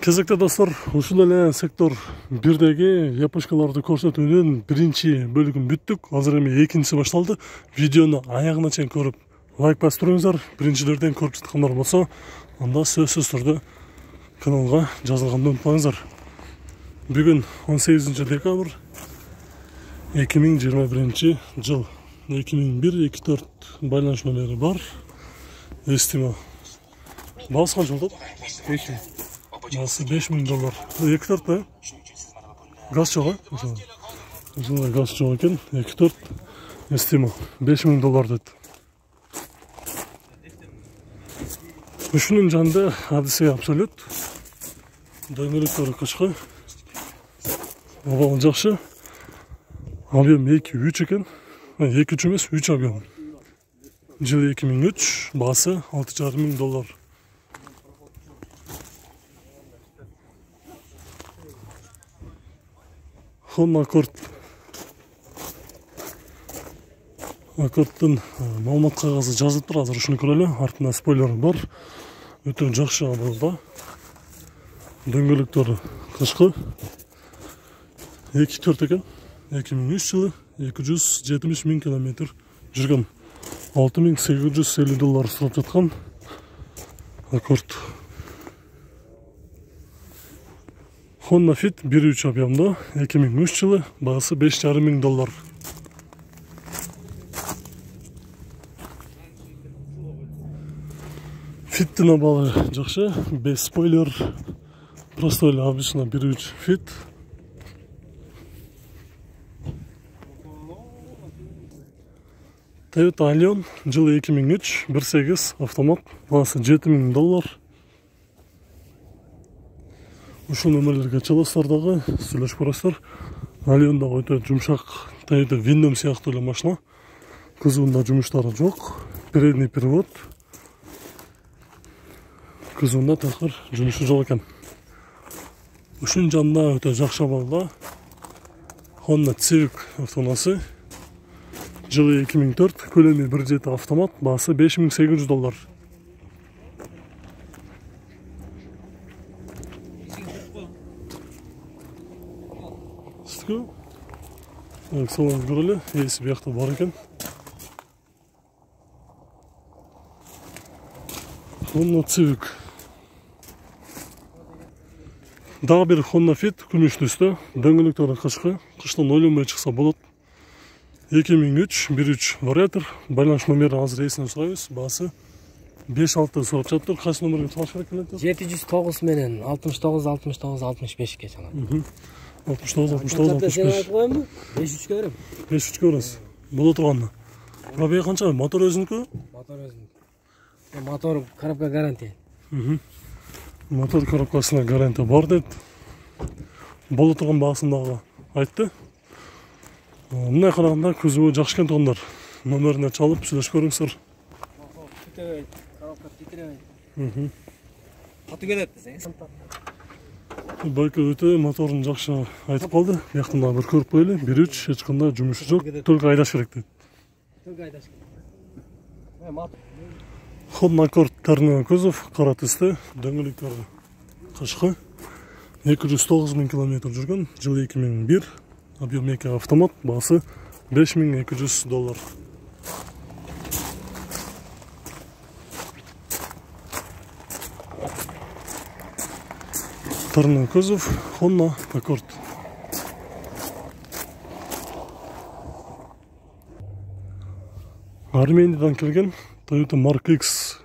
Кезекте достор, ушул эле сектор 1деги япошкаларды көрсөтүүнүн биринчи бөлүгүн бүттүк. Азыр эми экинчиси башталды. Видеону аягына чейин көрүп, лайк басып туруңуздар. Биринчилерден көрүп жаткандар болсо, анда сөзсүз түрдө каналга жазылганды унутпаңыздар. Бүгүн 18 декабрь 2021 жыл. 2001-24 байланыш номери бар. Эстимо. Баасы канча болот? 5000. Баасы $5000. 2-4 да? Газ жок, а? Ушундай газ жок экен. 2-4 эстимо. $5000 дейт. Ушунун жанында адиси абсолют. Дөңгөлөктөрү кычкы. Абалы жакшы. Объем 2-3 экен. 2-3 эмес, 3 объем. Жылы 2003, баасы $6500. Honda Accord. Accord'тун маалымат кагазы жазылып тур, азыр ушуну көрөлү. Артында спойлер бар. Өтө жакшы абалда. Дөңгөлөктөрү кычкы. 2-4 экен. 2003 жылы 270 000 километр жүргөн. $6850 сурап жаткан Accord. Honda Fit 1.3 объемдо 2003 жылы, баасы $5500. Фиттин абалы жакшы, без спойлер, просто эле обычно 1.3 Fit. Toyota Allion жылы 2003, 1.8 автомат, баасы $7000. Ушул номерлерге чаласыздар дагы, сүйлөшүп көрөсүздөр. Алионда өтө жумшак, Toyota Windom сыяктуу эле машина. Кузовунда жумуштары жок, передний привод. Кузовунда такыр жумушу жок экен. Ушунун жанында өтө жакшы абалда Honda Civic автоунаасы. Жылы 2004, көлөмү 1.7 автомат, баасы $5800. Салон көрөлү, эси биякта бар экен. Honda Civic. Дагы бир Honda Fit күмүш түстө, дөңгөлөктөрү кычкы, кыштан ойлонбой чыкса болот. 2003, 1.3 вариатор, байланыш номери азыр эсинен сурайбыз, баасы 5-6 сурап жатыр. Кайсы номерге чалыш керек эле? 709 менен 69-65-65 чалат. 69-65. 5-3 көрөм. 5-3 көрөсүз. Боло турганды. Пробег канча? Мотор өзүнүкү? Мотор өзүнүкү. Мотор коробка гарантия. Мотор коробкасына гарантия бар дейт. Боло турган баасын дагы айтты. Мындай караганда кузову жакшы экен туугандар. Номерине чалып сүйлөшүп көрүңүздөр. Коробка титиребейт. Каты келет десеңиз. Байка өтө моторун жакшы айтып калды. Бияктан дагы бир көрүп коелу. 1.3 эч кандай жумушу жок. Только айдаш керек дейт. Только айдаш керек. Honda Accord тарнаа кузов, кара түстө, дөңгөлөктөрү кычкы. 209 000 километр жүргөн. Жылы 2001. Объем 2 автомат, баасы $5200. Тарнаа кузов, Honda Accord. Армениядан келген Toyota Mark X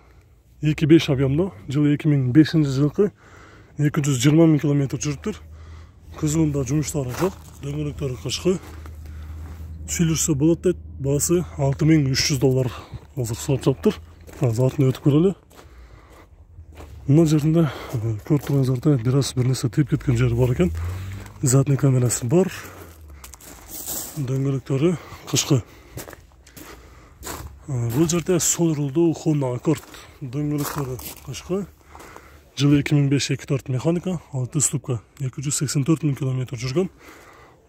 2.5 объемдо, жылы 2005 жылкы 220 000 километр жүрүптүр. Кузовунда жумуштары жок, дөңгөлөктөрү кычкы. Сүйлөшсө болот дейт, баасы $6300 азыр сурап жатыр. Азыр артына өтүп көрөлү. Мына жеринде көрүп тургансыздардай бир нерсе тийип кеткен жери бар экен. Задний камерасы бар. Дөңгөлөктөрү кычкы. Бул жерде сол рулдуу Honda Accord. Дөңгөлөктөрү кычкы. Жылы 2005-24 механика, 6 ступка, 284 000 километр жүргөн.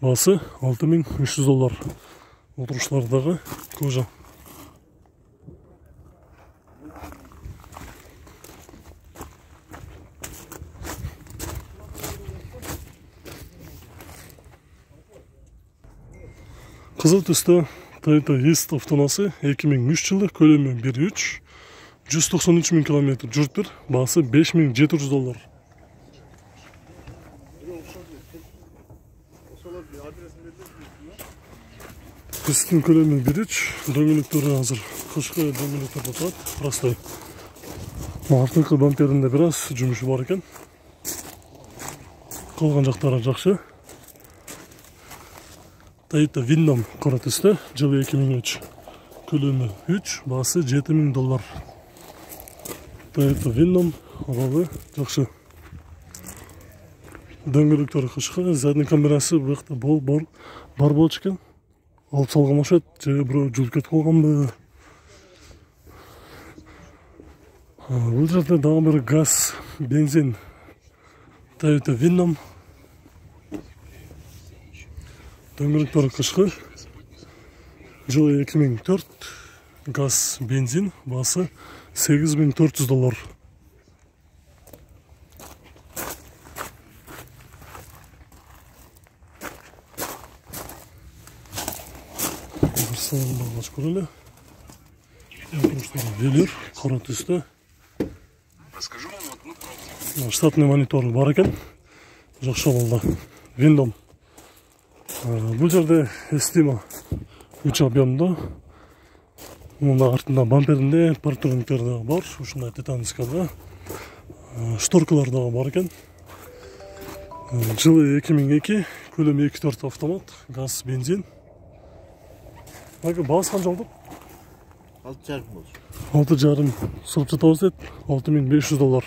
Баасы $6300. Отуруштардагы кожа. Кызыл түстө Toyota East автоунаасы 2003 жылы, көлөмү 1.3, 193 000 километр жүрүптүр, баасы $5700. Писттин көлөмү 1.3, дөңгөлөктөрү азыр кышкы дөңгөлөктөр болуп атат. Простой. Артыңкы бамперинде бир аз жумушу бар экен. Калган жактары жакшы. Toyota Windom кара түстө, жылы 2003, көлөмү 3, баасы $7000. Toyota Windom абалы жакшы. Дөңгөлөктөрү кышкы, задний камерасы бuyakta бар болчу экен. Алып салган окшойт, же бирөө жулуп кетип калганбы? Бул жерде дагы бир газ, бензин Toyota Windom. Дөңгөлөктөрү кышкы, жылы 2004, газ, бензин, баасы $8400. Бир салон багыш көрөлү. Велюр, кара түстө. Штатный монитор бар экен. Жакшы абалда. Windom. Бул жерде эстима 3 объемдо. Мында артында бамперинде парктурниктер дагы бар. Ушундай титанскада. Шторкалар дагы бар экен. Жылы 2002, көлөмү 2.4 автомат, газ, бензин. Баасы канча болду? $6,5 болчу. 6,5 сырып жатабыз дейт. $6500.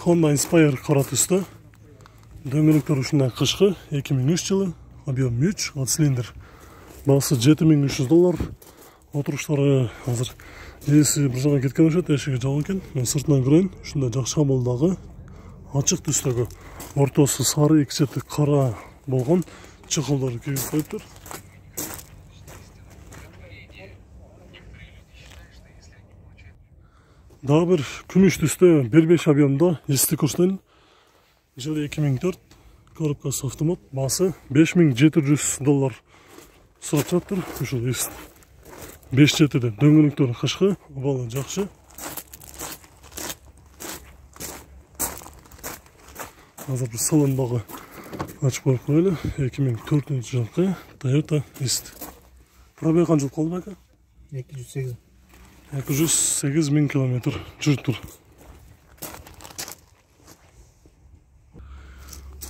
Honda Inspire кара түстө. Дөңгөлөктөр ушундай кышкы, 2003 жылы, объем 3, 6 цилиндр. Баасы $7300. Отуруштары азыр ээси бир жака кеткен окшойт, эшиги жабык экен. Мен сыртынан көрөйүн. Ушундай жакшы абалдагы ачык түстөгү, ортосу сары, эки чети кара болгон чыкылдарды кийип коюптур. Дагы бир күмүш түстө 1.5 объемдо эсти курстун, жылы 2004, коробкасы автомат, баасы $5700 сурап жатыр. Ушул эст 5 четиде, дөңгөлөктөрү кышкы, абалы жакшы. Азыр бир салон багы ачып коюп коелу. 2004 жылкы Toyota East. Пробег канча калды ака? 208. 208 000 километр жүрүптүр.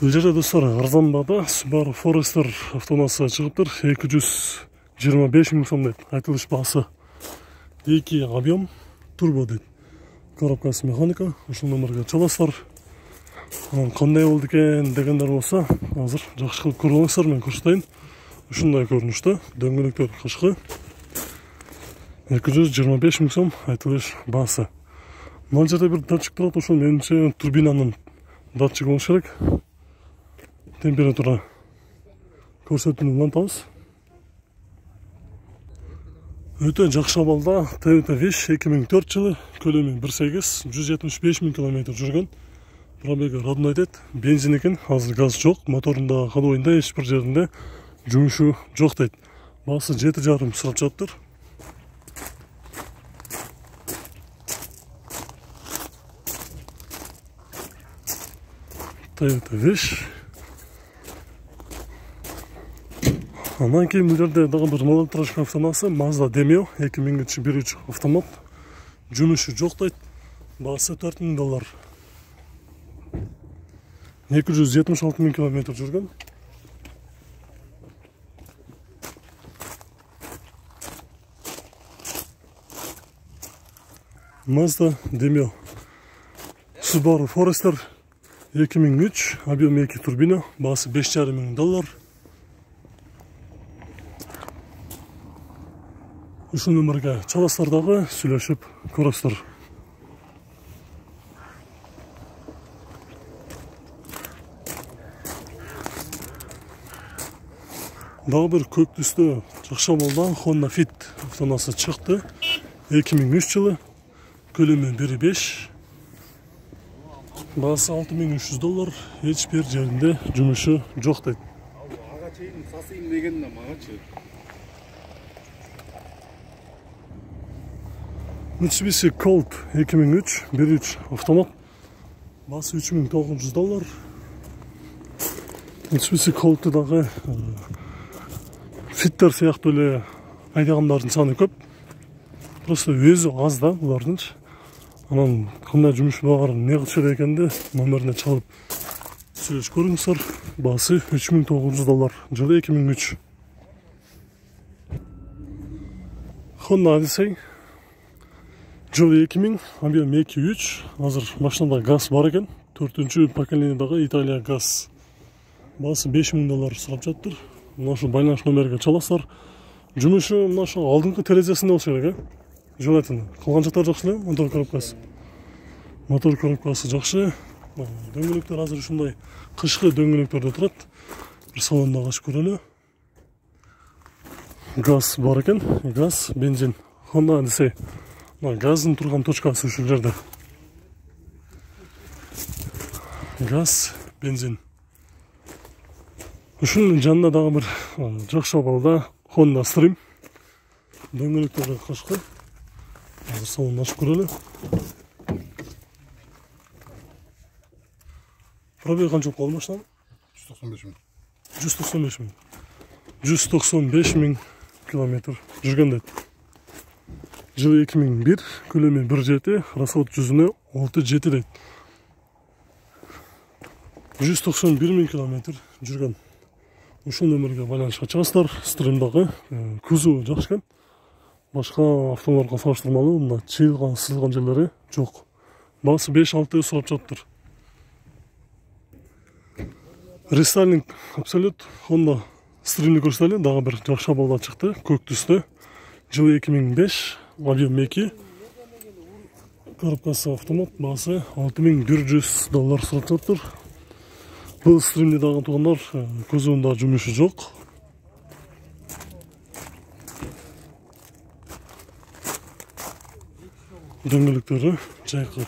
Бул жерде достор арзан баада Subaru Forester автоунаасы чыгыптыр. 225 000 сом дейт. Айтылыш баасы. 2 объем, турбо дейт. Коробкасы механика. Ушул номерге чаласыздар. Кандай болду экен дегендер болсо, азыр жакшы кылып көрүп алыңыздар, мен көрсөтөйүн. Ушундай көрүнүштө, дөңгөлөктөр кышкы. 225 000 сом айтылыш баасы. Мына жерде бир датчик турат, ошол менимче турбинанын датчиги болуш керек. Температура көрсөтүүнү улантабыз. Өтө жакшы абалда Toyota Wish 2004 жылы, көлөмү 1.8, 175 000 километр жүргөн. Пробеги родной дейт, бензин экен, азыр газ жок, моторунда ходовойунда эч бир жеринде жумушу жок дейт. Баасы 7,5 сурап жатыптыр. Toyota Wish. Андан кийин бул жерде дагы бир малолетражка автоунаасы Mazda Demio 2003 1.3 автомат. Жумушу жок дейт. Баасы $4000. 276 000 километр жүргөн. Mazda Demio. Subaru Forester 2003, объем 2 турбина, баасы $5,500. Ушул номерге чаласыздар дагы, сүйлөшүп көрөсүздөр. Дагы бир көк түстө жакшы абалда Honda Fit автоунаасы чыкты. 2003 жылы, көлөмү 1.5. Баасы $6300, эч бир жеринде жумушу жок дейт. Ага чейин сасыйм дегенде магачы. Mitsubishi Colt 2003 1.3 автомат. Баасы $3900. Mitsubishi Colt'та дагы фиттер сыяктуу эле айдагандардын саны көп. Просто өзү аз да булардынчы. Анан кандай жумуш бар, эмне кылышат экенди номерине чалып сүйлөшүп көрүңүздөр. Баасы $3900, жылы 2003. Honda Odyssey жылы 2000, объем 2.3. Азыр машинада газ бар экен. 4-чү поколениядагы Италия газ. Баасы $5000 сурап жатыр. Мына ушул байланыш номериге чаласыздар. Жумушу мына ошо алдыңкы терезесинде болуш керек, желательно. Калган жактары жакшы эле, мотор коробкасы. Мотор коробкасы жакшы. Дөңгөлөктөр азыр ушундай кышкы дөңгөлөктөрдө турат. Бир салондо ачып көрөлү. Газ бар экен, газ, бензин. Honda Odyssey. Газдын турган точкасы ушул жерде. Газ, бензин. Ушунун жанында дагы бир жакшы абалда Honda Stream. Дөңгөлөктөрдө кышкы. Азыр салонду ачып көрөлү. Пробег канча болуп калды машинанын? 195 000. 195 000 километр жүргөн дейт. Жылы 2001, көлөмү 1.7, расход жүзүнө 6.7 дейт. 191 000 километр жүргөн. Ушул номерге байланышка чыгасыздар. Стримдагы кузову жакшы экен. Башка автолорго салыштырмалуу мында чыйылган, сызылган жерлери жок. Баасы 5-6 сурап жатыр. Рестайлинг абсолют. Honda Stream'ди көрсөтөлү, дагы бир жакшы абалда чыкты, көк түстө. Жылы 2005, объем 2. Коробкасы автомат, баасы $6100 сурап жатыр. Бул Stream'ди дагы туугандар, кузовунда жумушу жок. Дөңгөлөктөрү жайкы.